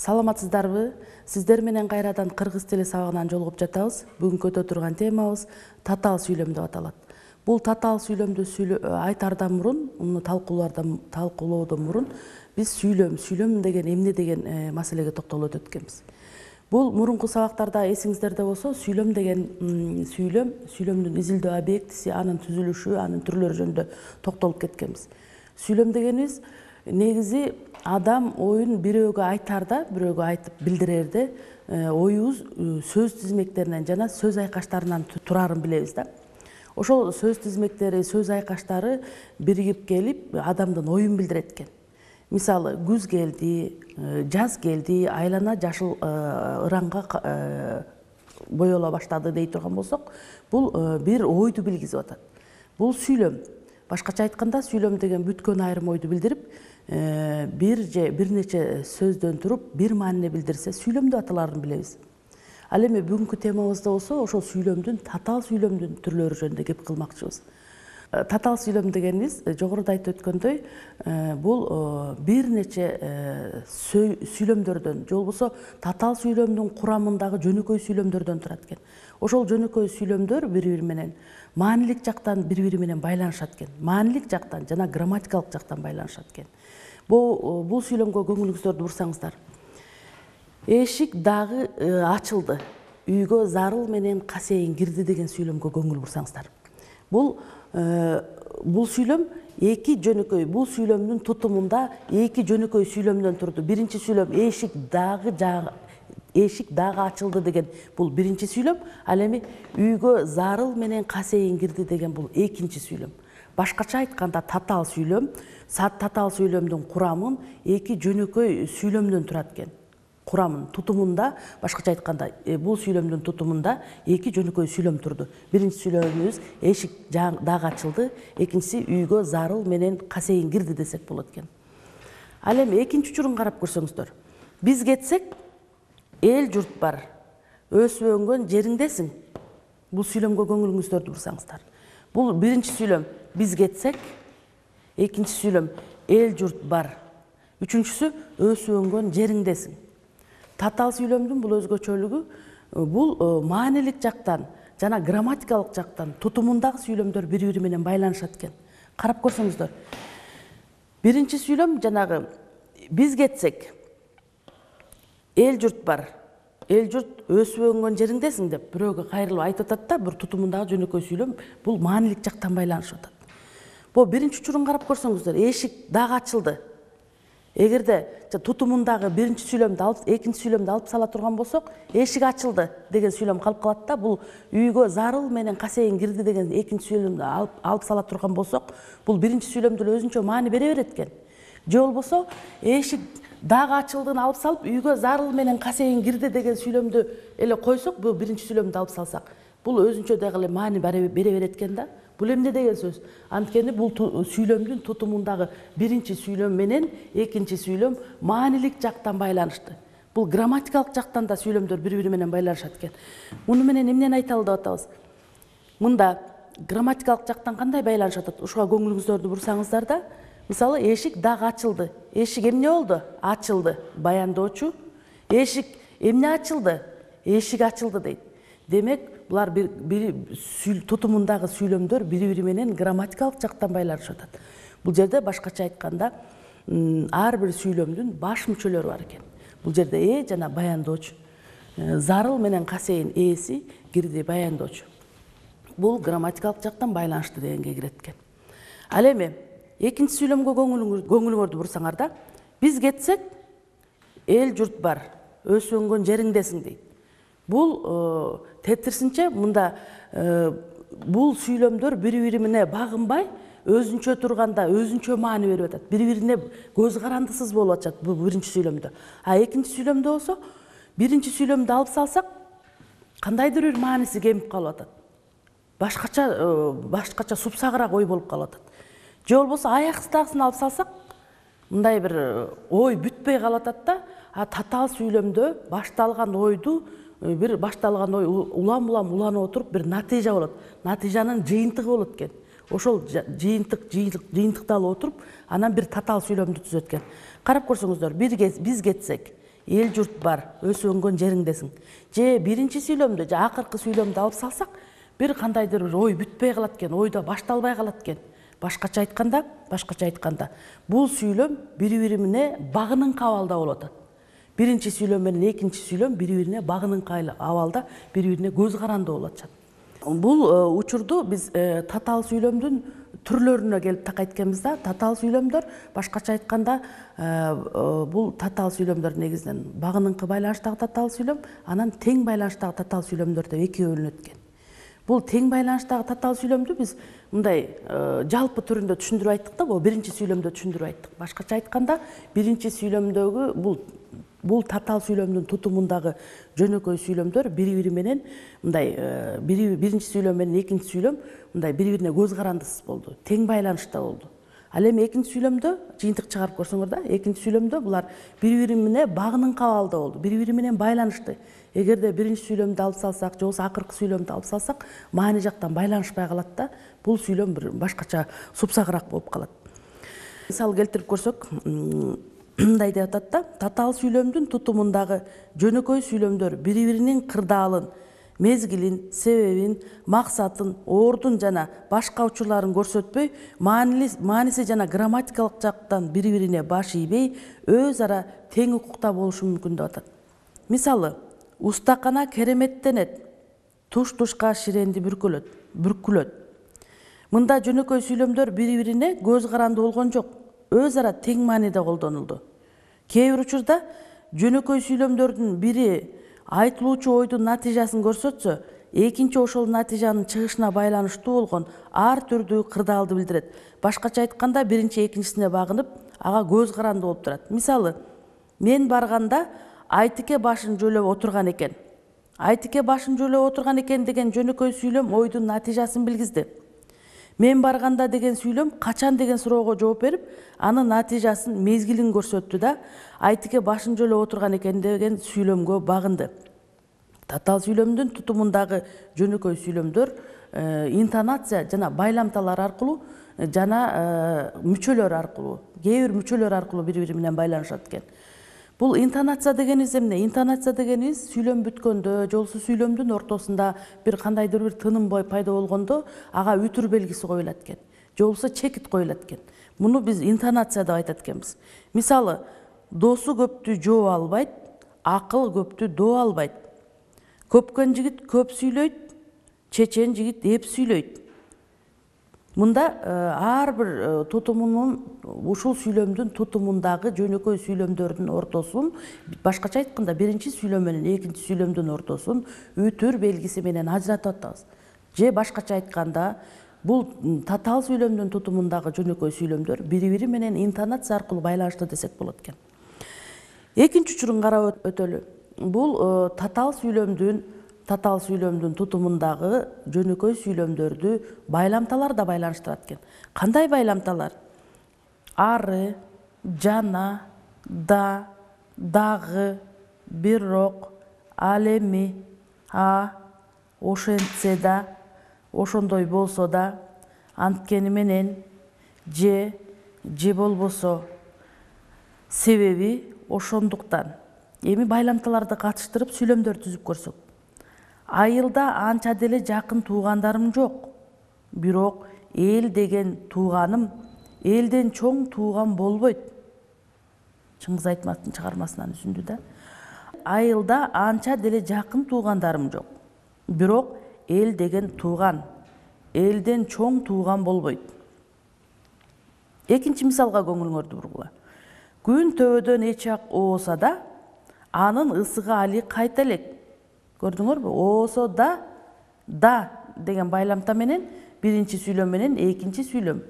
Саламатсыздарбы? Сиздер менен кайрадан кыргыз тили сабагынан жолугуп жатабыз. Бүгүнкү өтө турган темабыз татаал сүйлөм деп аталат. Бул татаал сүйлөмдү айтардан мурун, муну талкуулоодон мурун биз сүйлөм деген эмне деген маселеге токтолуп өткөнбүз. Бул мурунку сабактарда эсиңиздерде болсо, сүйлөм деген сүйлөмдүн изилдөө объектиси, анын түзүлүшү, анын түрлөрү жөнүндө токтолуп кеткенбиз. Сүйлөм дегенибиз негизи адам оюн бирөөгө айтарда, бирөөгө айтып билдирерде оюбуз сөз тизмектеринен жана сөз айкаштарынан турарын билебиз да. Ошол сөз тизмектери, сөз айкаштары биригип келип адамдын оюн билдирет экен. Мисалы, күз келди, жаз келди, айлана жашыл ыранга боёла баштады дей турган болсок, бул бир ойду билгизип атат. Бул сүйлөм. Башкача айтканда, сүйлөм деген бүткөн айрым ойду билдирип, бир нече сөздөн туруп, бир маанине билдирсе, сүйлөм деп аталарын билебиз. Ал эми бүгүнкү темабызда болсо, ошол татаал сүйлөмдүн түрлөрү жөнүндө кеп кылмакчыбыз. Татаал сүйлөм дегенибиз, жогоруда айтып өткөндөй, бул бир нече сүйлөмдөрдөн, же болбосо татаал сүйлөмдүн курамындагы жөнөкөй сүйлөмдөрдөн турат экен. Ошол жөнөкөй сүйлөмдөр бири-бири менен маанилик жактан бири-бири менен байланышат экен. Маанилик жактан жана грамматикалык жактан байланышат экен. Бул сүйлөмгө көңүлүңүздөрдү бурсаңыздар. Эшик дагы ачылды. Үйгө зарыл менен касейин кирди деген сүйлөмгө көңүл бурсаңыздар. Бул сүйлөм эки жөнөкөй, бул сүйлөмдүн тутумунда эки жөнөкөй сүйлөмдөн турду. Биринчи сүйлөм эшик дагы ачылды деген бул биринчи сүйлөм, ал эми үйгө зарыл менен касейин кирди деген бул экинчи сүйлөм. Башкача айтканда татаал сүйлөмдүн курамын эки жөнөкөй сүйлөмдөн турат экен. Курамын, тутумунда, башкача айтканда, бул сүйлөмдүн тутумунда эки жөнөкөй сүйлөм турду. Биринчи сүйлөмүбүз эшик дагы ачылды, экинчиси үйгө зарыл менен касейин кирди десек болот экен. Ал эми экинчи учурун карап көрсөңүздөр. Биз кетсек, эл журт бар, өсүп өнгөн жериңдесиң. Бул сүйлөмгө көңүлүңүздөрдү бурсаңыздар. Бул биринчи сүйлөм биз кетсек, экинчи сүйлөм эл журт бар, үчүнчүсү өсүп өнгөн жериңдесиң. Татаал сүйлөмдүн бул өзгөчөлүгү, бул маанилик жактан жана грамматикалык жактан тутумундагы сүйлөмдөр бири-бири менен байланышат экен. Карап көрсөңүздөр. Биринчи сүйлөм жанагы биз кетсек, эл журт бар, эл журт өсүп өнгөн жериңдесиң деп бирөөгө кайрылып айтып атат да, бир тутумундагы жөнөкөй сүйлөм бул маанилик жактан байланышып атат. Бул биринчи учурун карап көрсөңүздөр, эшик дагы ачылды. Эгерде тутумундагы биринчи сүйлөмдү алып, экинчи сүйлөмдү алып сала турган болсок, эшик ачылды деген сүйлөм калып калат да, бул үйгө зарыл менен касейин кирди деген экинчи сүйлөмдү алып сала турган болсок, бул биринчи сүйлөмдө өзүнчө маани бере берет экен. Же болбосо, эшик дагы ачылдыны алып салып, үйгө зарыл менен касейин кирди деген сүйлөмдү эле койсок, бул биринчи сүйлөмдү алып салсак, бул өзүнчө дагы маани бере берет экен да. Бул эмне деген сөз? Анткени бул сүйлөмдүн тутумундагы биринчи сүйлөм менен экинчи сүйлөм маанилик жактан байланышты. Бул грамматикалык жактан да сүйлөмдөр бири-бири менен байланышат экен. Муну менен эмнени айталы деп атабыз? Мында грамматикалык жактан кандай байланышат атат? Ушуга көңүлүңүздөрдү бурсаңыздар да, мисалы, эшик дагы ачылды. Эшик эмне болду? Ачылды. Баяндоочу. Эшик эмне ачылды? Эшик ачылды дейт. Демек, булар тутумундагы сүйлөмдөр бири-бири менен грамматикалык жактан байланышып атат. Бул жерде башкача айтканда, ар бир сүйлөмдүн баш мүчөлөрү бар экен. Бул жерде жана баяндоочу. Зарыл менен касейин эси кирди баяндоочу. Бул грамматикалык жактан байланышты дегенге кирет экен. Ал эми экинчи сүйлөмгө көңүлүңөрдү бурсаңар да, биз кетсек, эл журт бар, өсүп өнгөн жериңдесиң дейт. Бул тетирсинче мында бул сүйлөмдөр бири-бири менен багынбай, өзүнчө турганда өзүнчө маани берип атат. Бири-бирине көз карандысыз болуп атат бул биринчи сүйлөмдө. А экинчи сүйлөмдө болсо, биринчи сүйлөмдү алып салсак, кандайдыр бир мааниси кемип калып атат. Башкача супсагыраак ой болуп калып атат. Же болбосо аяксыздагысын алып салсак, мындай бир ой бүтпөй калып атат да, а татаал сүйлөмдө башталган ойду бир башталган ой улам-улам уланып отуруп бир натыйжа болот. Натыйжанын жыйынтыгы болот экен. Ошол жыйынтыкты алып отуруп, анан бир татаал сүйлөмдү түзөт экен. Карап көрсөңүздөр, биз кетсек, эл журт бар, өсүп өнгөн жериңдесиң. Же биринчи сүйлөмдү, же акыркы сүйлөмдү алып салсак, бир кандайдыр бир ой бүтпөй калат экен, ойдо башталбай калат экен. Башкача айтканда, бул сүйлөм бири-бирине багыныңкы абалда болуп атат. Биринчи сүйлөм менен экинчи сүйлөм бири-бирине багыныңкы абалда, бири-бирине көз каранды болуп атышат. Бул учурду биз татаал сүйлөмдүн түрлөрүнө келип такайт экенбиз да. Татаал сүйлөмдөр, башкача айтканда, бул татаал сүйлөмдөр негизинен багыныңкы байланыштагы татаал сүйлөм, анан тең байланыштагы татаал сүйлөмдөр деп экиге бөлүнөт экен. Бул тең байланыштагы татаал сүйлөмдү биз мындай жалпы түрүндө түшүндүрүп айттык да, бул биринчи сүйлөмдө түшүндүрүп айттык. Башкача айтканда, биринчи сүйлөмдөгү бул татаал сүйлөмдүн тутумундагы жөнөкөй сүйлөмдөр бири-бири менен мындай биринчи сүйлөм менен экинчи сүйлөм мындай бири-бирине көз карандысыз болду, тең байланышта болду. Ал эми экинчи сүйлөмдө жыйынтык чыгарып көрсөңөр да, экинчи сүйлөмдө булар бири-бири менен багыныңкы абалда болду, бири-бири менен байланышты. Эгерде биринчи сүйлөмдү алып салсак, же болбосо акыркы сүйлөмдү алып салсак, маани жактан байланышпай калат да, бул сүйлөм бир башкача супсагыраак болуп калат. Мисал келтирип көрсөк, мындай деп атат да, татаал сүйлөмдүн тутумундагы жөнөкөй сүйлөмдөр бири-биринин кырдаалын, мезгилин, себебин, максатын, ордун жана башка учурларын көрсөтпөй, мааниси жана грамматикалык жактан бири-бирине баш ийбей, өз ара тең укукта болушу мүмкүн деп атат. Мисалы, устакана кереметтенет, туш-тушка ширенди бүркүлөт. Мында жөнөкөй сүйлөмдөр бири-бирине көз каранды болгон жок, өз ара тең мааниде колдонулду. Кээ бир учурда жөнөкөй сүйлөмдөрдүн бири айтылуучу ойдун натыйжасын көрсөтсө, экинчи ошол натыйжанын чыгышына байланыштуу болгон ар түрдүү кырдаалды билдирет. Башкача айтканда, биринчи экинчисине багынып, ага көз каранды болуп турат. Мисалы, мен барганда Айтике башын жөлөп отурган экен. Айтике башын жөлөп отурган экен деген жөнөкөй сүйлөм ойдун натыйжасын билгизди. Мен барганда деген сүйлөм качан деген суроого жооп берип, анын натыйжасын, мезгилин көрсөттү да, Айтике башын жөлөп отурган экен деген сүйлөмгө багынды. Татаал сүйлөмдүн тутумундагы жөнөкөй сүйлөмдөр интонация жана байламталар аркылуу жана мүчөлөр аркылуу, кээ бир мүчөлөр аркылуу бири-бири менен байланышат экен. Бул интонация дегенибиз эмне? Интонация дегенибиз сүйлөм бүткөндө, же болбосо сүйлөмдүн ортосунда бир кандайдыр бир тыным пайда болгондо, ага үтүр белгиси коюлат экен, же болбосо чекит коюлат экен. Муну биз интонация деп айтат экенбиз. Мисалы, досу көптү жооп албайт, акыл көптү доо албайт. Көпкөн жигит көп сүйлөйт, чечен жигит эп сүйлөйт. Мында ар бир тутумунун, ушул сүйлөмдүн тутумундагы жөнөкөй сүйлөмдөрдүн ортосун, башкача айтканда, биринчи сүйлөм менен экинчи сүйлөмдүн ортосун үтүр белгиси менен ажыратып атабыз. Же башкача айтканда, бул татаал сүйлөмдүн тутумундагы жөнөкөй сүйлөмдөр бири-бири менен интонация аркылуу байланышты десек болот экен. Экинчи учурун карап өтөлү. Бул татаал сүйлөмдүн тутумундагы жөнөкөй сүйлөмдөрдү байламталар да байланыштырат экен. Кандай байламталар? Ары, жана, да, дагы, бирок, ал эми, ошентсе да, ошондой болсо да, анткени менен, же болбосо, себеби ошондуктан. Эми байламталарды катыштырып сүйлөмдөр түзүп көрсөк. Айылда анча деле жакын туугандарым жок. Бирок эл деген тууганым элден чоң тууган болбойт. Чыңгыз Айтматовдун чыгармасынан үзүндү да. Айылда анча деле жакын туугандарым жок. Бирок эл деген тууган элден чоң тууган болбойт. Экинчи мисалга көңүлүңөрдү бургула. Күн төбөдөн эчак ооса да, анын ысыгы али кайта элек. Көрдүңөрбү? Оосо да деген байламта менен биринчи сүйлөм менен экинчи сүйлөм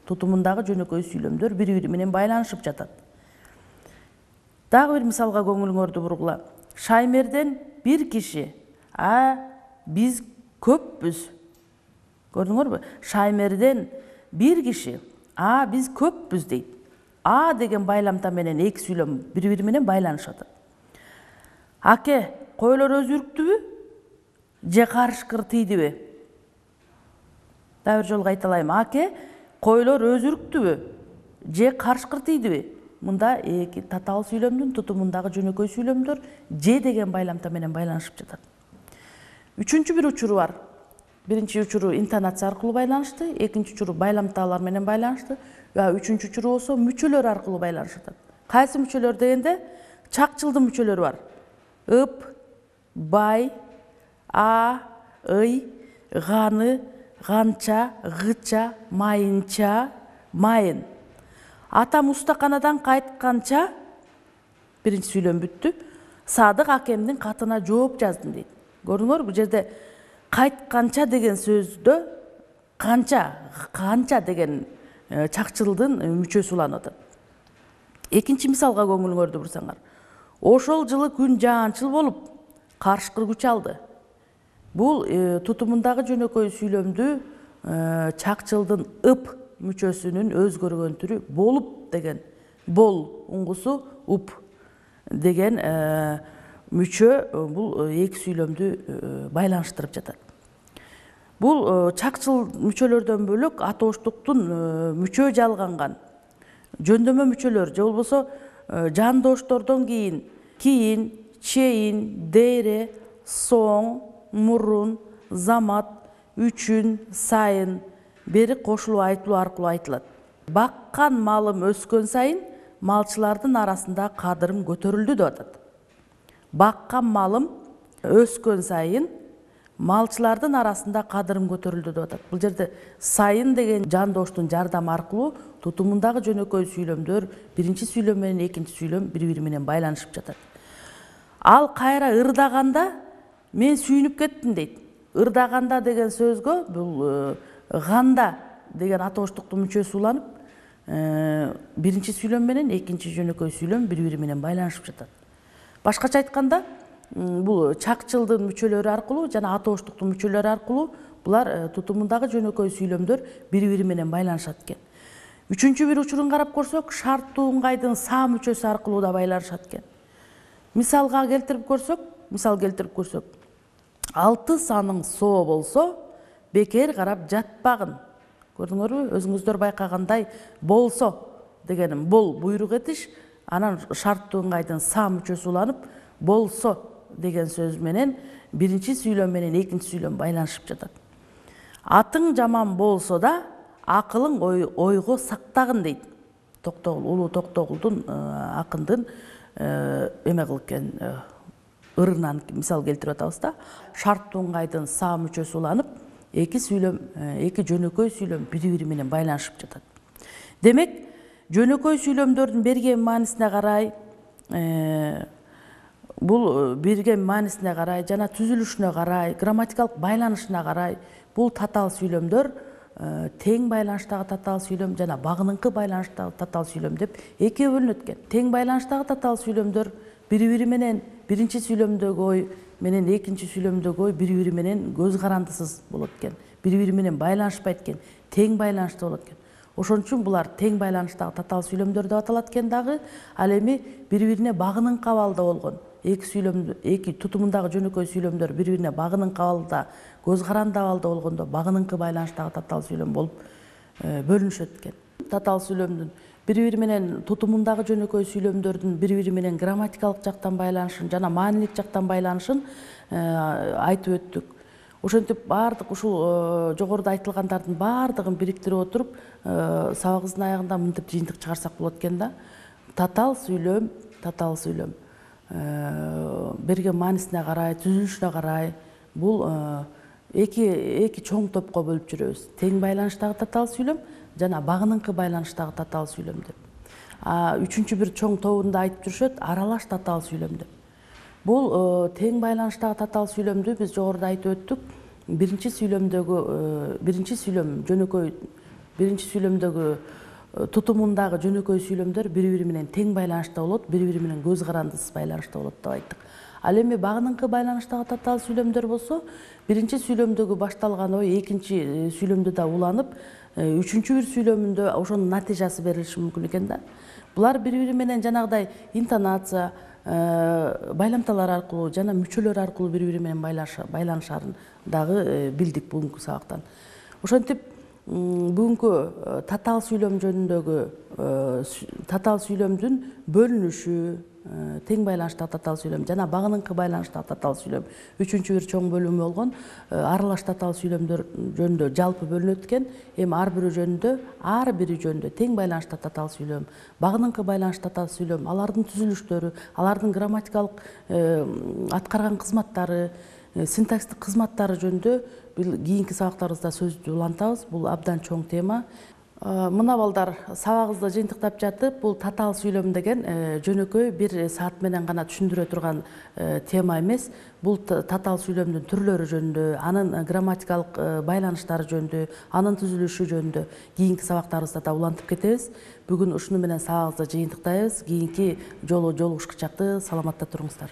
тутумундагы жөнөкөй сүйлөмдөр бири-бири менен байланышып жатат. Дагы бир мисалга көңүлүңөрдү бургула. Шаймерден бир киши, биз көппүз. Көрдүңөрбү? Шаймерден бир киши, биз көппүз дейт. Деген байламта менен эки сүйлөм бири-бири менен байланышат. Аке, койлор өзүрүктүбү? Же карышкыр тийдиби? Дагы бир жолу кайталайм. Аке, койлор өзүрүктүбү? Же карышкыр тийдиби? мында эки татаал сүйлөмдүн тутумундагы жөнөкөй сүйлөмдөр же деген байламта менен байланышып жатат. Үчүнчү бир учуру бар. Биринчи учуру интонация аркылуу байланышты, экинчи учуру байламтаалар менен байланышты, үчүнчү учуру болсо мүчөлөр аркылуу байланышып жатат. Кайсы мүчөлөр дегенде чакчылдын мүчөлөрү бар. Ып, бай, а, ый, ганы, ганча, гыча, майынча, майын. Атам устаканадан кайтканча, биринчи сүйлөм бүттү. Садык акемдин катына жооп жаздым дейт. Көрдүңөрбү, бул жерде кайтканча деген сөздө канча деген чакчылдын мүчөсү уланып атат. Экинчи мисалга көңүлүңөрдү бурсаңар. Ошол жылы күн жаанчыл болуп, карышкыр күч алды. Бул тутумундагы жөнөкөй сүйлөмдү чакчылдын ып мүчөсүнүн өзгөргөн түрү болуп деген, бол уңгусу уп деген мүчө бул эки сүйлөмдү байланыштырып жатат. Бул чакчыл мүчөлөрдөн бөлөк атооштуктун мүчө жалганган жөндөмө мүчөлөр же болбосо жандоштордон кийин, чейин, дере, соң, мурун, замат, үчүн, сайын, бери кошулуп айтылуу аркылуу айтылат. Баккан малым өскөн сайын малчылардын арасында кадырым көтөрүлдү деп атат. Баккан малым өскөн сайын малчылардын арасында кадырым көтөрүлдү деп атат. Бул жерде сайын деген жандоштун жардамы аркылуу тутумундагы жөнөкөй сүйлөмдөр биринчи сүйлөм менен экинчи сүйлөм бири-бири менен байланышып жатат. Ал кайра ырдаганда мен сүйүнүп кеттим дейт. Ырдаганда деген сөзгө бул ганда деген атооштуктун мүчөсү уланып, биринчи сүйлөм менен экинчи жөнөкөй сүйлөм бири-бири менен байланышып жатат. Башкача айтканда, бул чакчылдын мүчөлөрү аркылуу жана атооштуктун мүчөлөрү аркылуу булар тутумундагы жөнөкөй сүйлөмдөр бири-бири менен байланышат экен. Үчүнчү бир учурун карап көрсөк, шарттуу ыңгайдын са мүчөсү аркылуу да байланышат экен. Мисал келтирип көрсөк, 6 саның со болсо, бекер карап жатпагын. Көрдүңөрбү? Өзүңүздөр байкагандай болсо дегеним бол буйрук этиш, анан шарттуу ыңгайдын са мүчөсү уланып, болсо деген сөз менен биринчи сүйлөм менен экинчи сүйлөм байланышып жатат. Атың жаман болсо да, акылың ойго сактагын дейт. Улуу Токтогулдун акындын эме кылып экен ырынан мисал келтирип атабыз да. Шарттуу ыңгайдын са мүчөсү уланып, эки жөнөкөй сүйлөм бири-бири менен байланышып жатат. Демек, жөнөкөй сүйлөмдөрдүн берген маанисине карай, бул берген маанисине карай жана түзүлүшүнө карай, грамматикалык байланышына карай, бул татаал сүйлөмдөр тең байланыштагы татаал сүйлөм жана багыныңкы байланыштагы татаал сүйлөм деп экиге бөлүнөт экен. Тең байланыштагы татаал сүйлөмдөр бири-бири менен биринчи сүйлөмдөгү ой менен экинчи сүйлөмдөгү ой бири-бири менен көз карандысыз болот экен. Бири-бири менен байланышпайт экен, тең байланышта болот экен. Ошон үчүн булар тең байланыштагы татаал сүйлөмдөр деп аталат экен дагы. Ал эми бири-бирине багыныңкы абалда болгон эки тутумундагы жөнөкөй сүйлөмдөр бири-бирине багыныңкы абалда, көз каранды абалда болгондо багыныңкы байланыштагы татаал сүйлөм болуп бөлүнүшөт экен. Татаал сүйлөмдүн бири-бири менен тутумундагы жөнөкөй сүйлөмдөрдүн бири-бири менен грамматикалык жактан байланышын жана маанилик жактан байланышын айтып өттүк. Ошентип баардык ушул жогоруда айтылгандардын баардыгын бириктирип отуруп, сабагыбыздын аягында мынтип жыйынтык чыгарсак болот экен да. Татаал сүйлөм берген маанисине карай, түзүлүшүнө карай бул эки чоң топко бөлүп жүрөбүз. Тең байланыштагы татаал сүйлөм жана багыныңкы байланыштагы татаал сүйлөм деп. Үчүнчү бир чоң тобунда айтып жүрүшөт аралаш татаал сүйлөм деп. Бул тең байланыштагы татаал сүйлөмдү биз жогоруда айтып өттүк. Биринчи сүйлөмдөгү тутумундагы жөнөкөй сүйлөмдөр бири-бири менен тең байланышта болот, бири-бири менен көз карандысыз байланышта болот деп айттык. Ал эми багыныңкы байланыштагы татаал сүйлөмдөр болсо, биринчи сүйлөмдөгү башталган ой экинчи сүйлөмдө да уланып, үчүнчү бир сүйлөмүндө ошонун натыйжасы берилиши мүмкүн экен да. Булар бири-бири менен жанагыдай интонация, байламталар аркылуу жана мүчөлөр аркылуу бири-бири менен байланышарын дагы билдик бүгүнкү сабактан. Ошентип бүгүнкү татаал сүйлөм жөнүндөгү татаал сүйлөмдүн бөлүнүшү, тең байланыштагы татаал сүйлөм жана багыныңкы байланыштагы татаал сүйлөм үчүнчү бир чоң бөлүмү болгон аралаш татаал сүйлөмдөр жөнүндө жалпы бөлүнөт экен. Эми ар бири жөнүндө тең байланыштагы татаал сүйлөм, багыныңкы байланыштагы татаал сүйлөм, алардын түзүлүштөрү, алардын грамматикалык аткарган кызматтары, синтаксистик кызматтары жөнүндө кийинки сабактарыбызда сөздү улантабыз. Бул абдан чоң тема. Мына балдар, сабагыбызды жыйынтыктап жатып, бул татаал сүйлөм деген жөнөкөй бир саат менен гана түшүндүрө турган тема эмес. Бул татаал сүйлөмдүн түрлөрү жөнүндө, анын грамматикалык байланыштары жөнүндө, анын түзүлүшү жөнүндө кийинки сабактарыбызда да улантып кетебиз. Бүгүн ушуну менен сабагыбызды жыйынтыктайбыз. Кийинки жолу жолугушкуча саламатта туруңуздар.